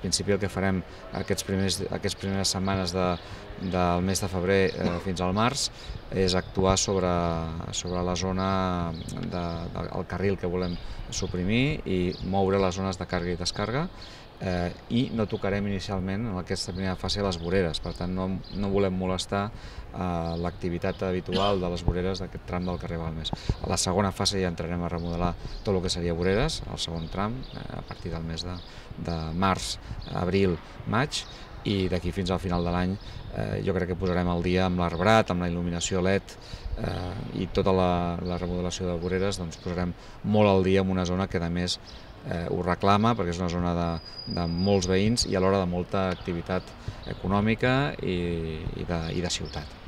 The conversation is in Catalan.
principi el que farem aquestes primeres setmanes del mes de febrer fins al març és actuar sobre la zona del carril que volem suprimir i moure les zones de càrrega i descàrrega, i no tocarem inicialment en aquesta primera fase les voreres, per tant no volem molestar l'activitat habitual de les voreres d'aquest tram del carrer Balmes. A la segona fase ja entrarem a remodelar tot el que seria voreres, el segon tram, a partir del mes de març, abril, maig, i d'aquí fins al final de l'any jo crec que posarem al dia amb l'arbrat, amb la il·luminació LED i tota la remodelació de voreres, doncs posarem molt al dia en una zona que a més ho reclama perquè és una zona de molts veïns i alhora de molta activitat econòmica i de ciutat.